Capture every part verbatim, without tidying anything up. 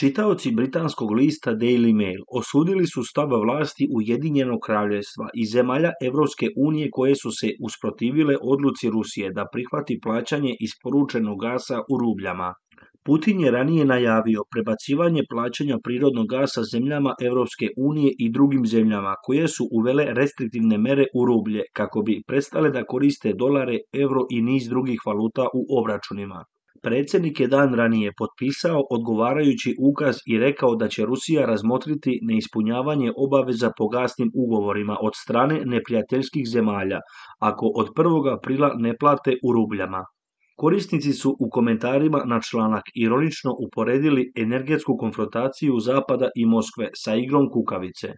Čitaoci britanskog lista Daily Mail osudili su stav vlasti Ujedinjenog kraljevstva i zemalja Europske unije koje su se usprotivile odluci Rusije da prihvati plaćanje isporučenog gasa u rubljama. Putin je ranije najavio prebacivanje plaćanja prirodnog gasa zemljama Europske unije i drugim zemljama koje su uvele restriktivne mere u rublje kako bi prestale da koriste dolare, euro i niz drugih valuta u obračunima. Predsjednik je dan ranije potpisao odgovarajući ukaz i rekao da će Rusija razmotriti neispunjavanje obaveza po gasnim ugovorima od strane neprijateljskih zemalja ako od prvog aprila ne plate u rubljama. Korisnici su u komentarima na članak ironično uporedili energetsku konfrontaciju Zapada i Moskve sa igrom kukavice.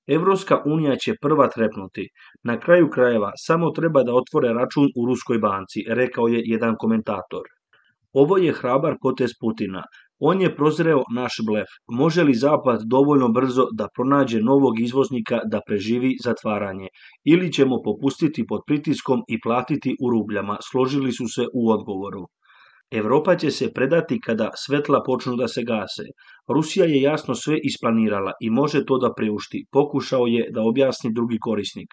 Europska unija će prva trepnuti. Na kraju krajeva samo treba da otvore račun u ruskoj banci, rekao je jedan komentator. Ovo je hrabar potez Putina. On je prozreo naš blef. Može li Zapad dovoljno brzo da pronađe novog izvoznika da preživi zatvaranje? Ili ćemo popustiti pod pritiskom i platiti u rubljama, složili su se u odgovoru. Evropa će se predati kada svetla počnu da se gase. Rusija je jasno sve isplanirala i može to da priušti, pokušao je da objasni drugi korisnik.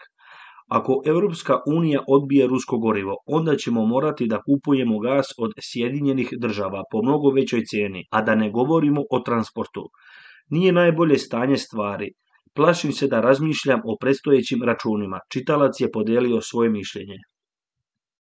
Ako Europska unija odbije rusko gorivo, onda ćemo morati da kupujemo gas od Sjedinjenih država po mnogo većoj cijeni, a da ne govorimo o transportu. Nije najbolje stanje stvari. Plašim se da razmišljam o predstojećim računima. Čitalac je podelio svoje mišljenje.